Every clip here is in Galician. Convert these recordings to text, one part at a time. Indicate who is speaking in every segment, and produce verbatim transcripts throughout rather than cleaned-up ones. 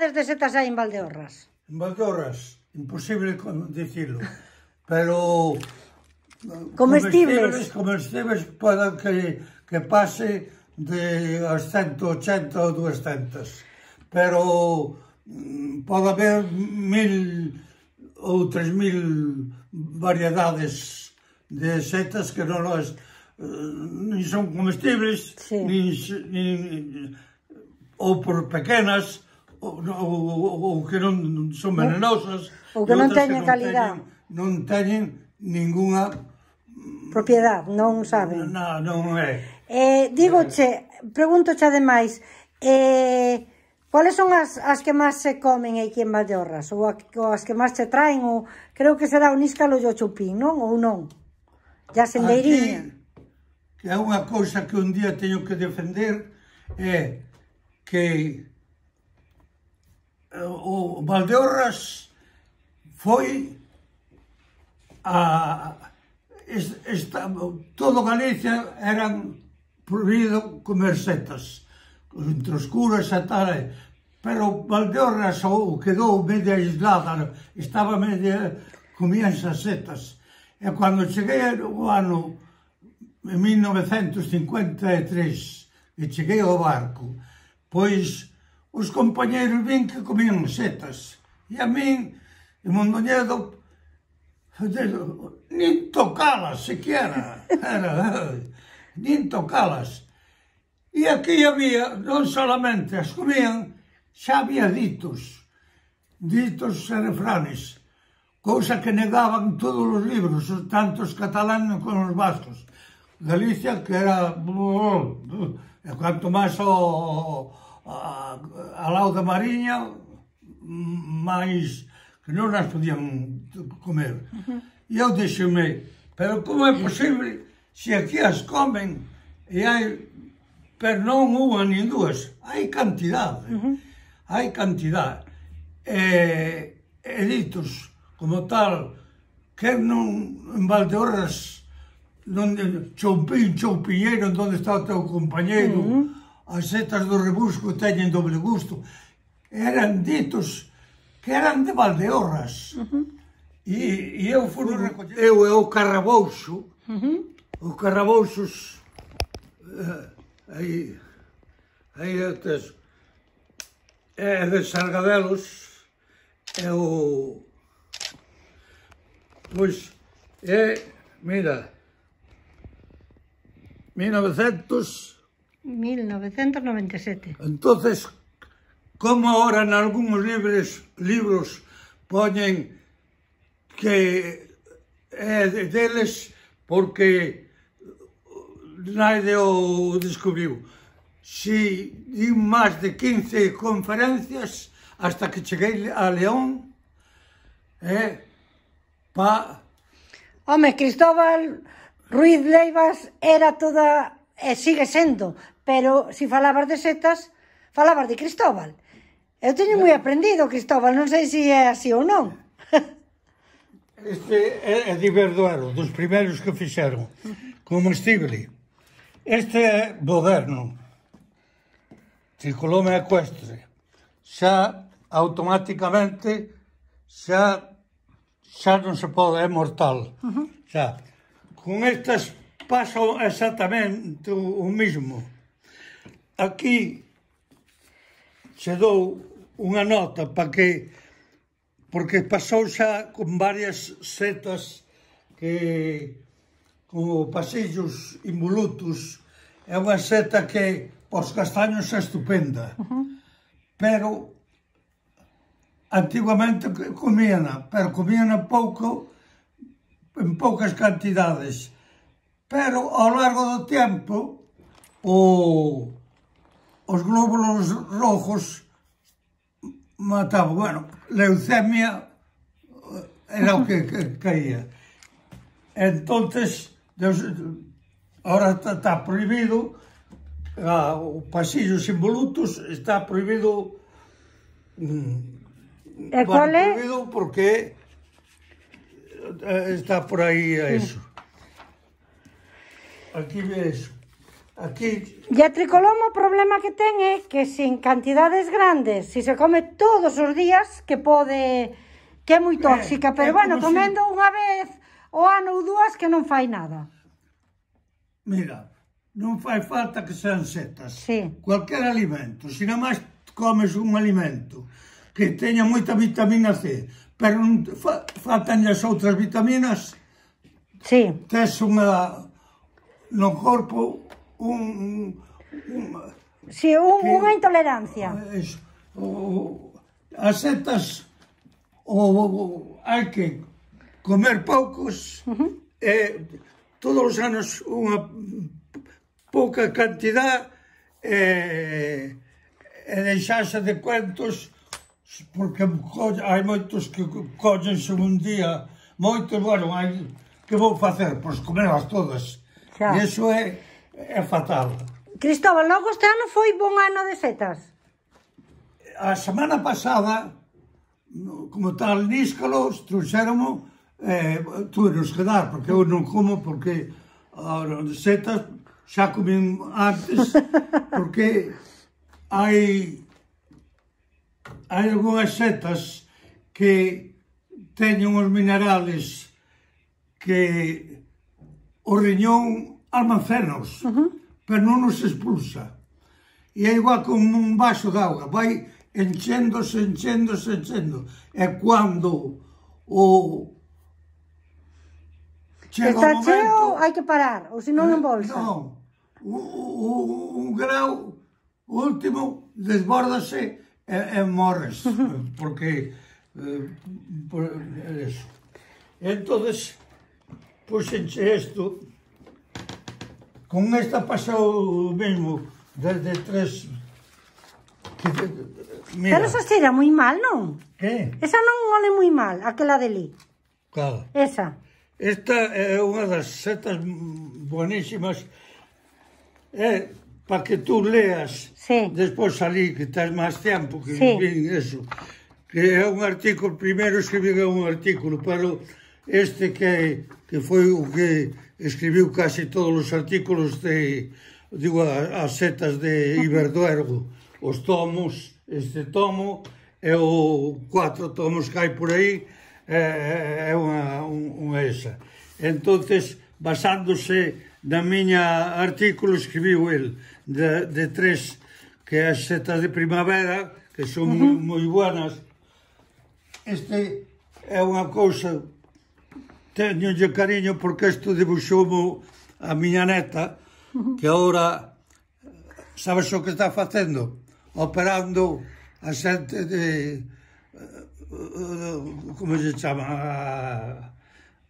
Speaker 1: cantidades de setas hai en Valdeorras?
Speaker 2: En Valdeorras, imposible dicirlo, pero...
Speaker 1: Comestibles.
Speaker 2: Comestibles poden que, que pase de as ciento ochenta ou duascentas, pero pode haber mil ou tres mil variedades de setas que non as nin son comestibles,
Speaker 1: sí.
Speaker 2: nin, nin ou por pequenas ou, ou, ou que non son venenosas,
Speaker 1: ou que non teñen calidad,
Speaker 2: non teñen ninguna
Speaker 1: propiedade, non saben.
Speaker 2: Non, non é.
Speaker 1: Eh, digoche, pregúntoche ademais, eh, cuáles son as, as que máis se comen aquí en Valdeorras? Ou, a, ou as que máis se traen? Ou, creo que será o níscalo e o chupín, non? Ou non? Ya sendeiriña.
Speaker 2: Aquí, que é unha cousa que un día teño que defender, é que o Valdeorras foi a... Esta, todo Galicia eran prohibido comer setas, entre os curas e tal, pero Valdeorras ou quedou media aislada, estaba media, comían esas setas. E cando cheguei o ano en mil novecentos cincuenta e tres, e cheguei ao barco, pois os compañeros vin que comían setas, e a min, en Mondoñedo, nin tocalas, sequera, era, nin tocalas. E aquí había, non solamente as comían, xa había ditos, ditos e refranes, cousa que negaban todos os libros, tanto os catalanes como os vascos. Galicia, que era, e canto máis ao lado da Mariña, máis que non as podían comer. Uh-huh. E eu dixeme, pero como é posible se aquí as comen e hai, pero non unha nin dúas, hai cantidade, uh-huh. hai cantidade. E, e ditos, como tal, que non en Valdeorras, non choupín, choupiñeiro, onde está o teu compañeiro, uh-huh. as setas do rebusco teñen doble gusto, eran ditos que eran de Valdeorras. Uh-huh. E, e eu fui recoller. Eu e o Carrabouxo, uh-huh. os Carrabouxos, uh, aí, aí atrás, é de Sargadelos, é o... Pois, é, mira, mil novecentos...
Speaker 1: mil novecentos noventa e sete.
Speaker 2: Entonces, como ahora en algúns libros, libros poñen que é deles porque nadie o descubriu. Si din máis de quince conferencias hasta que cheguei a León, é pa...
Speaker 1: Home, Cristóbal Ruiz Leivas era toda, e sigue sendo, pero si falabas de setas, falabas de Cristóbal. Eu teño moi aprendido, Cristóbal, non sei se é así ou non.
Speaker 2: Este é de Verduero, dos primeiros que fixeron, comestible. Este é moderno, circulome ecuestre. Xa, automáticamente, xa, xa non se pode, é mortal. Xa, con estas pasa exactamente o mismo. Aquí se dou unha nota para que, porque pasou xa con varias setas que, como pasillos involutos, é unha seta que os castaños é estupenda, pero antiguamente comíana, pero comíana pouco, en poucas cantidades, pero ao largo do tempo o, os glóbulos rojos mataban, bueno, leucemia era o que, que caía. Entonces, ahora está, está prohibido, ah, o pasillos involutos está prohibido,
Speaker 1: e cual
Speaker 2: bueno,
Speaker 1: é?
Speaker 2: Prohibido porque está por aí a eso. Aquí ves aquí...
Speaker 1: E a tricoloma o problema que ten é que sin cantidades grandes, se se come todos os días, que pode... que é moi tóxica,
Speaker 2: Eh,
Speaker 1: pero
Speaker 2: é
Speaker 1: bueno,
Speaker 2: como se-
Speaker 1: comendo unha vez o ano ou dúas que non fai nada.
Speaker 2: Mira, non fai falta que sean setas.
Speaker 1: Sí.
Speaker 2: Cualquier alimento. Se non máis comes un alimento que teña moita vitamina C, pero non te fa, faltan as outras vitaminas,
Speaker 1: Sí.
Speaker 2: tes unha no corpo un, un
Speaker 1: Sí, un,
Speaker 2: Que-
Speaker 1: unha intolerancia.
Speaker 2: es, o, as setas o, o, hai que comer poucos
Speaker 1: Uh-huh.
Speaker 2: e todos os anos unha pouca cantidad e, e deixarse de cuentos porque co- hai moitos que collense un día moitos, bueno, hai que vou facer? Pois comerlas todas.
Speaker 1: Xa.
Speaker 2: E iso é, é fatal.
Speaker 1: Cristóbal, logo este ano foi bon ano de setas.
Speaker 2: A semana pasada, no- como tal níscalos, trouxéromo, eh, tuvenos que dar, porque eu non como, porque as setas xa comín antes, porque hai hai algunhas setas que teñen os minerales que o riñón almacenos,
Speaker 1: Uh-huh.
Speaker 2: pero non os expulsa. E é igual como un vaso de auga, vai enchéndose, enchéndose, enchendo. E cando o chega
Speaker 1: Está
Speaker 2: o
Speaker 1: cheo,
Speaker 2: momento...
Speaker 1: hai que parar, ou senón embolsa.
Speaker 2: Non, o, o, un grau último desbórdase e, e morres, porque eh, por eso. Entonces, pois enche isto, con esta pasou o mesmo, desde tres... Que, mira,
Speaker 1: Pero esa cheira moi mal, non?
Speaker 2: que?
Speaker 1: Esa non ole moi mal, aquela de li.
Speaker 2: Cal?
Speaker 1: Esa.
Speaker 2: Esta é unha das setas buenísimas. É para que tú leas
Speaker 1: Sí.
Speaker 2: despois ali, que tens máis tempo que
Speaker 1: Sí.
Speaker 2: vin eso. Que é un artículo, primeiro escribí un artículo, pero este que, que foi o que escribiu casi todos os artículos de, digo, as setas de Iberduergo, os tomos, este tomo e o cuatro tomos que hai por aí, é, é unha, un, unha esa. Entonces, basándose na miña artículo, escribiu el de, de tres, que é as setas de primavera, que son uh -huh. moi buenas. Este é unha cousa, teñolle cariño porque isto dibuxoumo a miña neta, que agora, sabes o que está facendo? Operando a xente de, como se chama,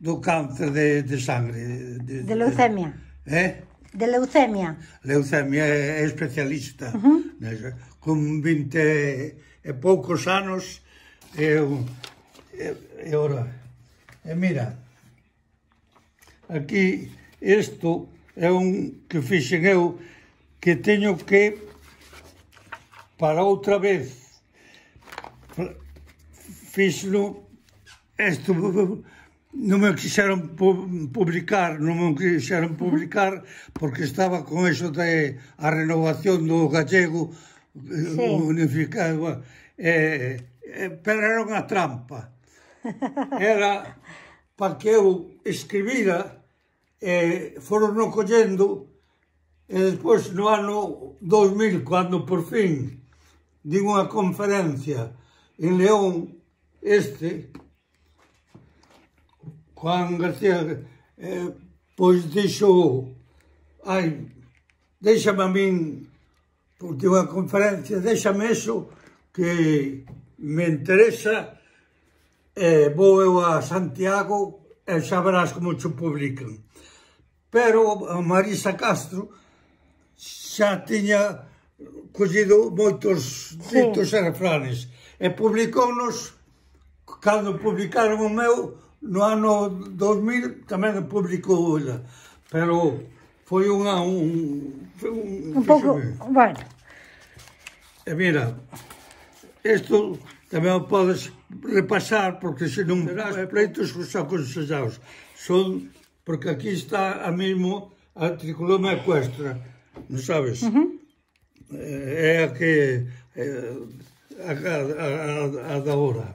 Speaker 2: do cáncer de, de sangre. De,
Speaker 1: De leucemia.
Speaker 2: Eh?
Speaker 1: De leucemia.
Speaker 2: Leucemia é especialista.
Speaker 1: Uh -huh.
Speaker 2: Nesa. Con vinte e poucos anos, eu, e, e ora, e mira, aquí, isto é un que fixen eu, que teño que, para outra vez, fixlo, isto non me quixeron publicar, non me quixeron publicar, porque estaba con eso de a renovación do gallego,
Speaker 1: Sí.
Speaker 2: unificado, eh, eh, pero era unha trampa. Era para que eu escribira, eh, foron no collendo, e despois no ano dos mil, cando por fin din unha conferencia en León, este, Juan García, eh, pois dixo, ai, déxame a min, porque unha conferencia, déxame eso, que me interesa, eh, vou eu a Santiago e xa verás como te publican. Pero a Marisa Castro xa tiña collido moitos ditos e refranes e publicounos, cando publicaron o meu, no ano dos mil tamén publicou ela, pero foi unha un, un,
Speaker 1: Un pouco, bueno.
Speaker 2: E mira, isto tamén o podes repasar, porque se non verás pleitos os aconsellados. Son, porque aquí está a mesmo a tricoloma ecuestra. non sabes? É a que... a, a, a, a da hora.